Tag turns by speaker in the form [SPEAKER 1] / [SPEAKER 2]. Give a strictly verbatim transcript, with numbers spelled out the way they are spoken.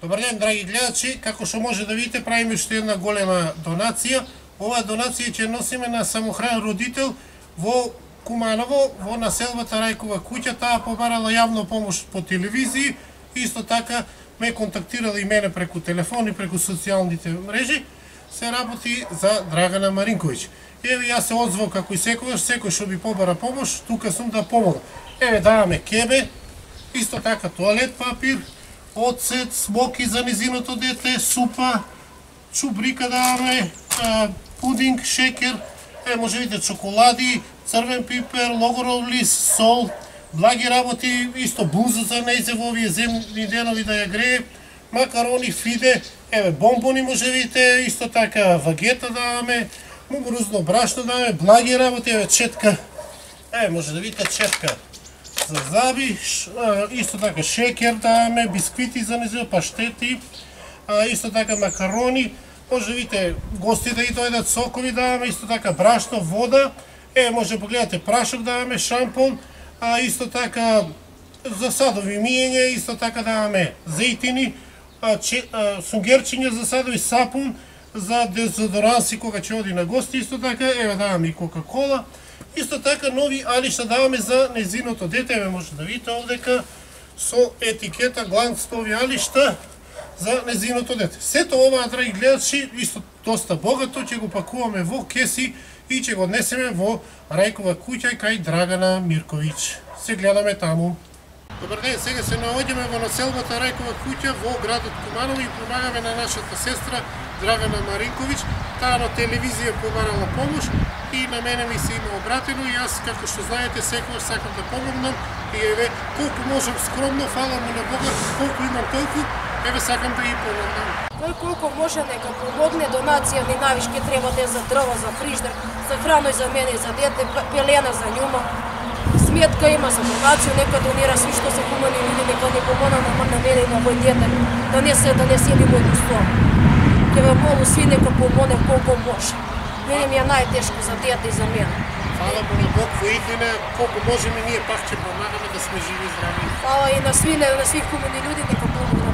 [SPEAKER 1] Добар ден, драги гледачи, како што може да видите, правиме уште една голема донација. Оваа донација ќе носиме на самохранен родител во Куманово, во населбата Рајкова куќа. Таа побарала јавна помош по телевизија, исто така ме контактирала и мене преку телефон и преку социјалните мрежи. Се работи за Драгана Маринковиќ. Еве, јас се одзвав како и секогаш, секој што би побара помош, тука сум да помогам. Еве, даваме кебе, исто така тоалет папир, оцет, смоки за незиното дете, супа, чубрика даваме, пудинг, шекер, е, може видите чоколади, црвен пипер, логоров лист, сол, благи работи, исто буза за нејзе во овие земни денови да ја грее, макарони, фиде, еве, бомбони може видите, исто така вагета даваме, мугурузно брашно даваме, благи работи, еве, четка, еве, може да видите четка за заби, исто така шекер даваме, бисквити за незиво, паштети, исто така макарони, може да видите гости да и дојдат, сокови даваме, исто така брашно, вода, е, може да погледате прашок даваме, шампон, а исто така за садови миење, исто така даваме зејтини, сунгерчиња за садови, сапун, за дезодоранси кога ќе оди на гости, исто така, еве даваме и кока-кола, исто така нови алишта даваме за незиното дете, еве може да видите овдека со етикета гланцови алишта за незиното дете. Сето ова, драги гледачи, исто доста богато, ќе го пакуваме во кеси и ќе го однесеме во Рајкова куќа кај Драгана Мирковиќ. Се гледаме таму. Добар ден, сега се наоѓаме во населбата Рајкова куќа во градот Куманово и помагаме на нашата сестра Драгана Маринковиќ. Таа на телевизија побарала помош и на мене ми се има обратено и јас, како што знаете, секогаш сакам да помогнам и еве, колку можам скромно, фала му на Бога, колку имам толку, еве сакам да и помогнам.
[SPEAKER 2] Кој колку може нека помогне, донација ми навишке треба да е за дрва, за фриждер, за храно и за мене и за дете, пелена за њума. Сметка има за донација, нека донира сви што се хумани луѓе, нека не помогна на мене и на мој дете, да не се да не сели мојот стол. Ќе ве молу сви нека помогне колку може. Мене ми е најтешко за дете и за мене.
[SPEAKER 1] Фала му на Бог во иднина, колку можеме ние пак ќе помагаме да сме живи и здрави.
[SPEAKER 2] Фала и на сви, на сви хумани луѓе, нека помогне.